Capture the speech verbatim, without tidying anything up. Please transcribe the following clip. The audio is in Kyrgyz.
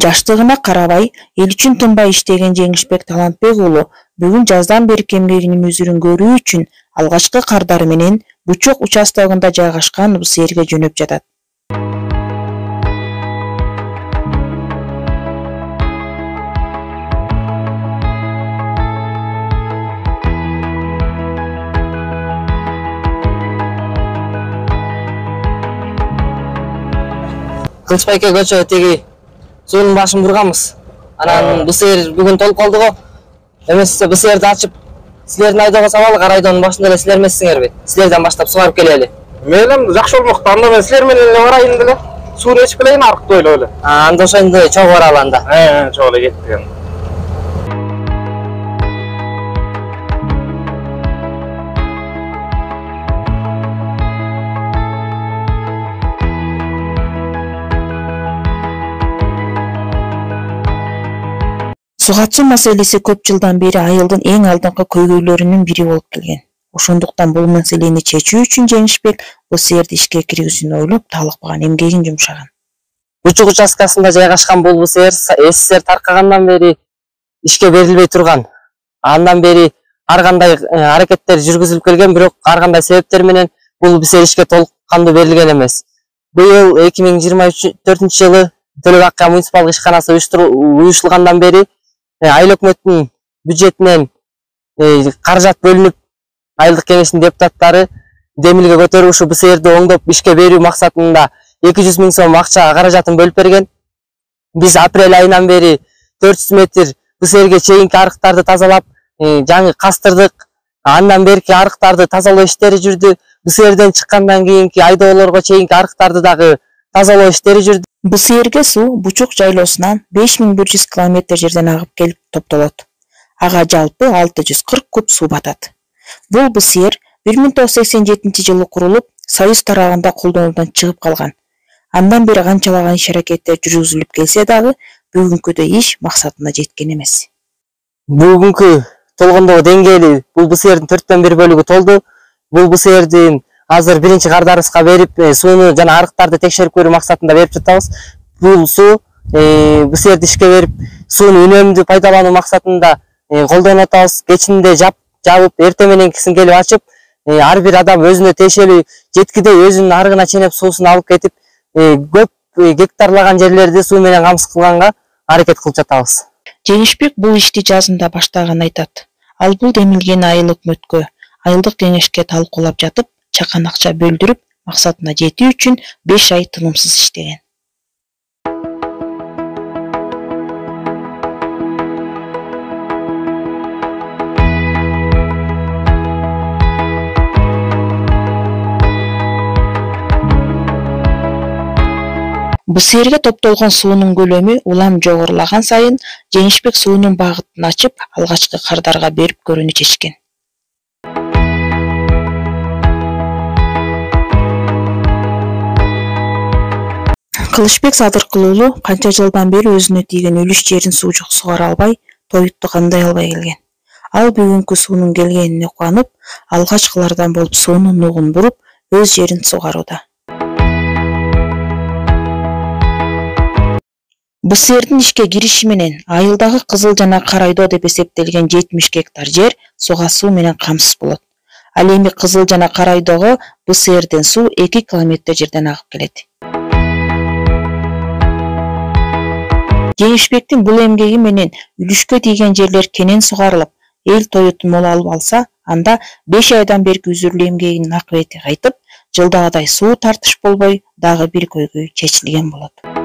Жаштыгына карабай, эл үчүн тынбай иштеген Жеңишбек Талантбек уулу бүгүн жаздан берки эмгегинин өзүрүн көрүү үчүн алгачкы кардары менен Бучок участогунда жайгашкан Бусээрге жөнөп жатат. Кылычбайке көчө теги суунун башын бурганбыз. Анан Бусээр бүгүн толуп калды го. Эмесе Бусээрди ачып, силердин айдоого салалы, айдоонун башында эле силер эмессиңерби? Силерден баштап сугарып келели. Мейлем жакшы болмокто. Анда мен силер менен эле барайын деле. Сууну ичип келейин арыкты ойлоп эле. А, анда ошондо чогуу баралы анда. Э, чогуу эле кеттик. Суу катуу маселеси көп жылдан бери айылдын эң алдыңкы көйгөйлөрүнүн бири болуп келген. Ошондуктан бул маселени чечүү үчүн Жеңишбек Бусээрди ишке киргизүүнү ойлоп, талыкпаган эмгегин жумшаган. Бучок участкасында жайгашкан бул Бусээр СССР таркагандан бери ишке берилбей турган. Андан бери ар кандай аракеттер жүргүзүлүп келген, бирок ар кандай себептер менен бул Бусээр ишке толук кандуу берилген эмес. Быйыл эки миң жыйырма төртүнчү жылы Төлөк Акка муниципалдык ишканасы уюштурулгандан бери айыл өкмөттүн бюджетинен каражат бөлүнүп, айылдык кеңештин депутаттары демилге көтөрүп ушу Бусээрди оңдоп ишке берүү максатында эки жүз миң сом акча каражатын бөлүп берген. Биз апрель айынан бери төрт жүз метр Бусээрге чейинки арыктарды тазалап, жаңы кастырдык. Андан берки арыктарды тазалоо иштери жүрдү. Бусээрден чыккандан кийинки айдоолорго чейинки арыктарды дагы тазалоо иштери жүрдү. Бусээрге суу Бучок жайлоосунан беш миң бир жүз километр жерден агып келип топтолот. Ага жалпы алты жүз кырк куб суу батат. Бул Бусээр бир миң тогуз жүз сексен жетинчи жылы курулуп, Союз тарабында колдонуудан чыгып калган. Андан бери канчалаган иш-аракеттер жүргүзүлүп келсе дагы, бүгүнкүдөй иш максатына жеткен эмес. Бүгүнкү толгондогу деңгээли бул Бусээрдин төрттөн бир бөлүгү толду. Бул Бусээрдин азыр биринчи кардарыбызга берип, сууну жана арыктарды текшерип көрүү максатында берип жатабыз. Бул суу Бусээрди ишке берип, сууну үнөмдүү пайдалануу максатында колдонуп атабыз. Кечинде жап жабып, эртең мененкисин келип ачып, ар бир адам өзүнө тиешелүү жеткидей өзүнүн арыгына ченеп суусун алып кетип, көп гектарлаган жерлерди суу менен камсыз кылганга аракет кылып жатабыз. Жеңишбек бул ишти жазында баштаганын айтат. Ал бул демилгени айыл өкмөткө, айылдык кеңешке талкуулап жатып, чакан акча бөлдүрүп, максатына жетүү үчүн беш ай тынымсыз иштеген. Бусээрге топтолгон суунун көлөмү улам жогорулаган сайын Жеңишбек суунун багытын ачып, алгачкы кардарга берип көрүүнү чечкен. Кылычбек Садыркул уулу канча жылдан бери өзүнө тийген үлүш жерин суу сугара албай, тоютту кандай албай келген. Ал бүгүнкү суунун келгенине кубанып, алгачкылардан болуп суунун нугун буруп, өз жерин сугарууда. Бусээрдин ишке кириши менен айылдагы Кызыл жана Карайдоо деп эсептелген жетимиш гектар жер суга суу менен камсыз болот. Ал эми Кызыл жана Карайдоого Бусээрден суу эки километр жерден агып келет. Жеңишбектин бул эмгеги менен үлүшкө тийген жерлер кенен сугарылып, эл тоютун мол алып алса, анда беш айдан берки үзүрүлүү эмгегинин акыбети кайтып, жылдагыдай суу тартыш болбой, дагы бир көйгөй чечилген болот.